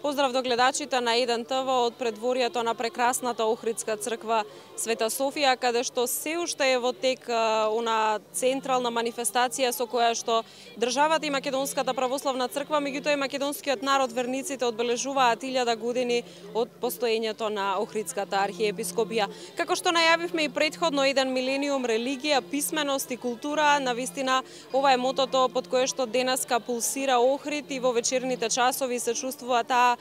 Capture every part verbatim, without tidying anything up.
Поздрав до гледачите на еден Т В од предворието на прекрасната Охридска црква Света Софија, каде што се уште е во тек она централна манифестација со која што државата и Македонската православна црква, меѓутоа и македонскиот народ, верниците, одбележуваат илјада години од постоењето на Охридската архиепископија. Како што најавивме и предходно, еден милениум религија, писменост и култура, навистина ова е мотото под кое што денеска пулсира Охрид и во вечерните часови се чувствува таа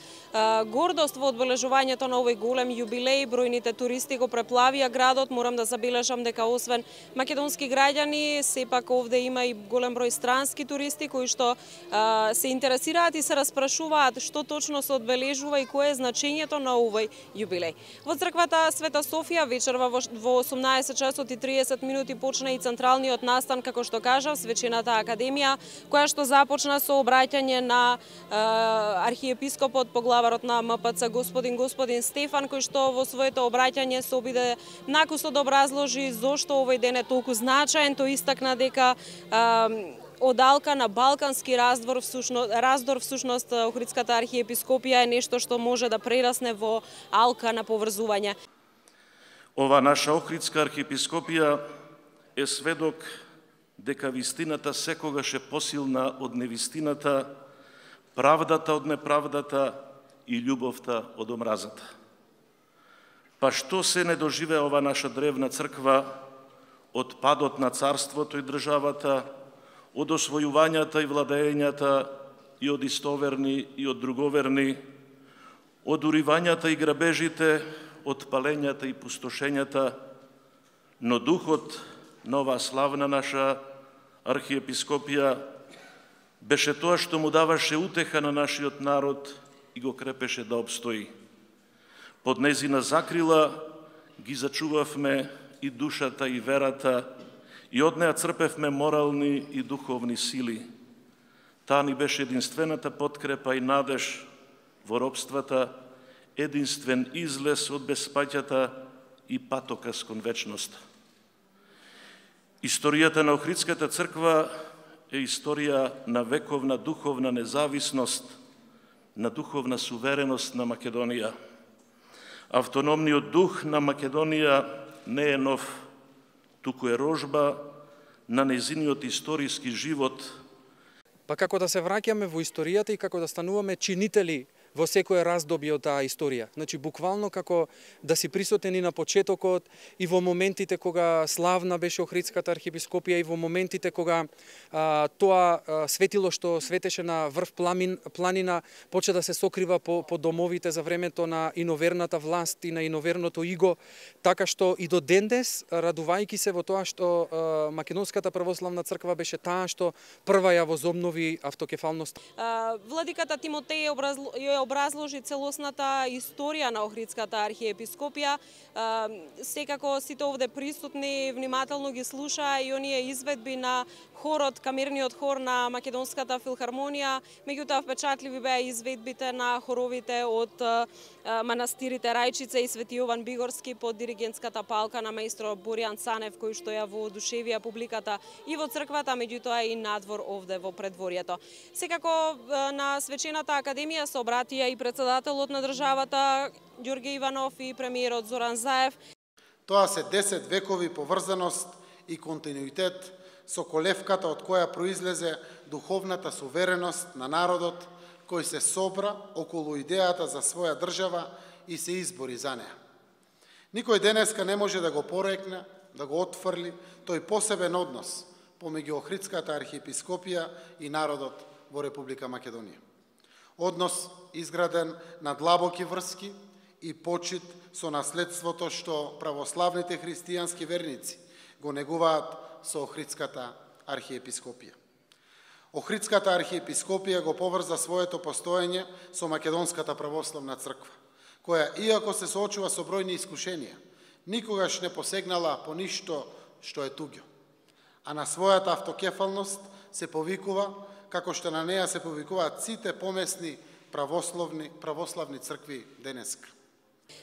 гордост во одбележувањето на овој голем јубилеј. Бројните туристи го преплавија градот. Морам да забележам дека освен македонски граѓани, сепак овде има и голем број странски туристи кои што а, се интересираат и се распрашуваат што точно се одбележува и кое е значењето на овој јубилеј. Во црквата Света Софија вечерва во, во осумнаесет часот и триесет минути почна и централниот настан, како што кажав, Свечената академија, која што започна со обраќање на а, архиепископот, поглаварот на М П Ц господин господин Стефан, кој што во своето обраќање се обиде накусо да образложи зошто овој ден е толку значаен. Тој истакна дека а, од алка на балкански раздор всушност, раздор всушност Охридската архиепископија е нешто што може да прерасне во алка на поврзување. Ова наша Охридска архиепископија е сведок дека вистината секогаш е посилна од невистината, правдата од неправдата и љубовта од омразата. Па што се не доживеа ова наша древна црква од падот на царството и државата, од освојувањата и владењата и од истоверни и од друговерни, од уривањата и грабежите, од палењата и пустошењата, но духот на оваа славна наша архиепископија беше тоа што му даваше утеха на нашиот народ и го крепеше да обстои. Под незина закрила ги зачувавме и душата и верата, и од неа црпевме морални и духовни сили. Таа ни беше единствената подкрепа и надеж во робствата, единствен излез од безпаќата и патокас кон вечноста. Историјата на Охридската црква е историја на вековна духовна независност, на духовна сувереност на Македонија. Автономниот дух на Македонија не е нов, туку е рожба на незиниот историски живот. Па како да се враќаме во историјата и како да стануваме чинители во секое раздобје од таа историја. Значи, буквално како да си присутен и на почетокот, и во моментите кога славна беше Охридската архиепископија, и во моментите кога а, тоа а, светило што светеше на врв пламин, планина почна да се сокрива по, по домовите за времето на иноверната власт и на иноверното иго, така што и до дендес, радувајќи се во тоа што а, Македонската православна црква беше таа што прва ја возобнови автокефалност. А, владиката Тимотеј образло, образложи целосната историја на Охридската архиепископија. Секако сите овде присутни внимателно ги слушаа и оние изведби на хорот, камерниот хор на Македонската филхармонија. Меѓутоа впечатливи беа изведбите на хоровите од манастирите Рајчица и Свети Јован Бигорски под диригентската палка на маестро Боријан Цанев, кој што ја воодушевија публиката и во црквата, меѓутоа и надвор овде во предворието. Секако на Свечената академија се обратија и председателот на државата Ѓорѓе Иванов и премиерот Зоран Заев. Тоа се десет векови поврзаност и континуитет со колевката од која произлезе духовната сувереност на народот кој се собра околу идејата за своја држава и се избори за неа. Никој денеска не може да го порекне, да го отфрли тој посебен однос помеѓу Охридската архиепископија и народот во Република Македонија. Однос изграден на длабоки врски и почит со наследството што православните христијански верници го негуваат со Охридската архиепископија. Охридската архиепископија го поврза своето постоење со Македонската православна црква, која, иако се соочува со бројни искушенија, никогаш не посегнала по ништо што е туѓо, а на својата автокефалност се повикува како што на неа се повикуваат сите помесни православни, православни цркви денеска.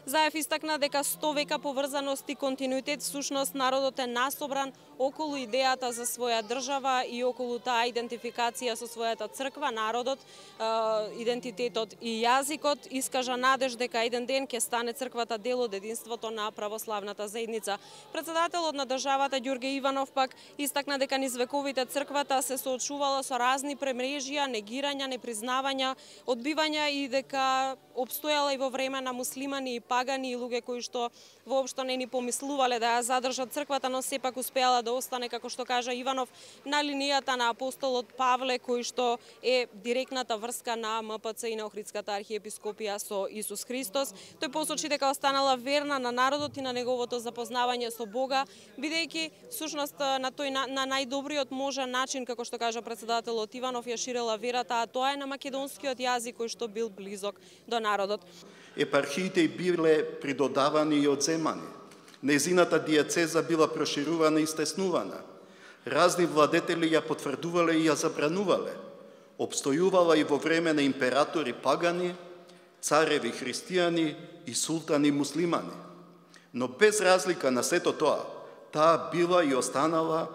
Заев истакна дека сто века поврзаност и континуитет всушност народот е насобран околу идејата за своја држава и околу таа идентификација со својата црква, народот, идентитетот и јазикот. Искажа надеж дека еден ден ќе стане црквата дел од единството на православната заедница. Председателот на државата Ѓорѓе Иванов пак истакна дека низ вековите црквата се соочувала со разни премрежија, негирања, непризнавања, одбивања и дека обстојала и во време на муслимани и пагани и луѓе кои што воопшто не ни помислувале да ја задржат црквата, но сепак успеала да остане, како што кажа Иванов, на линијата на апостолот Павле, кој што е директната врска на М П Ц и на Охридската архиепископија со Исус Христос. Тој посочи дека останала верна на народот и на неговото запознавање со Бога, бидејќи всушност на тој на, на најдобриот можен начин, како што кажа председателот Иванов, ја ширела верата, а тоа е на македонскиот јазик кој што бил близок до народот. Епархиите биле придодавани и одземани. Незината диецеза била проширувана и стеснувана. Разни владетели ја потврдувале и ја забранувале. Обстојувала и во време на императори пагани, цареви христијани и султани муслимани. Но без разлика на сето тоа, таа била и останала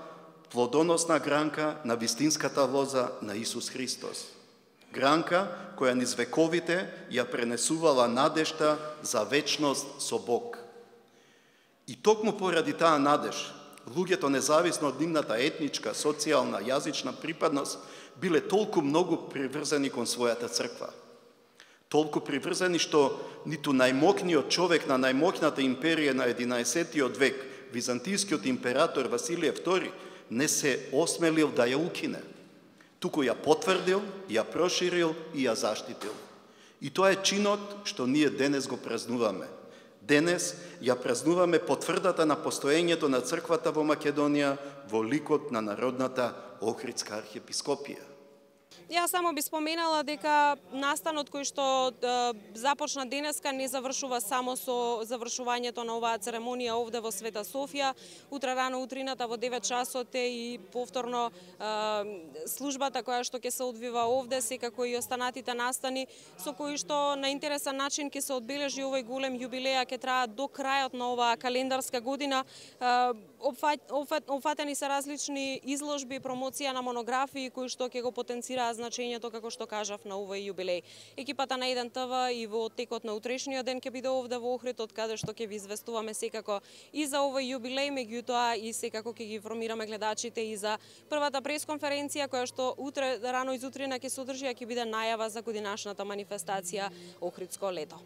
плодоносна гранка на вистинската лоза на Исус Христос. Гранка која низ вековите ја пренесувала надежта за вечност со Бог. И токму поради таа надеж, луѓето независно од нивната етничка, социјална, јазична припадност, биле толку многу приврзани кон својата црква. Толку приврзани што ниту најмокниот човек на најмокната империја на единаесеттиот век, византискиот император Василije втори, не се осмелил да ја укине. Туку ја потврдил, ја проширил и ја заштитил. И тоа е чинот што ние денес го празнуваме. Денес ја празнуваме потврдата на постоењето на црквата во Македонија во ликот на Народната Охридска архиепископија. Јас само би споменала дека настанот кој што е, започна денеска не завршува само со завршувањето на оваа церемонија овде во Света Софија. Утре рано утрината во девет часот е и повторно е, службата која што ќе се одвива овде, секако и останатите настани со кои што на интересен начин ќе се одбележи овој голем јубилеј, ќе трае до крајот на оваа календарска година. Е, Опфатени се различни изложби, промоција на монографии кои што ќе го потенцираат значењето, како што кажав, на овој јубилеј. Екипата на еден Т В и во текот на утрешниот ден ќе биде овде во Охрид, од каде што ќе ви известуваме секако и за овој јубилеј, меѓутоа и секако ќе ги информираме гледачите и за првата пресконференција која што утре рано изутрина ќе се одржи, а ќе биде најава за годинашната манифестација Охридско лето.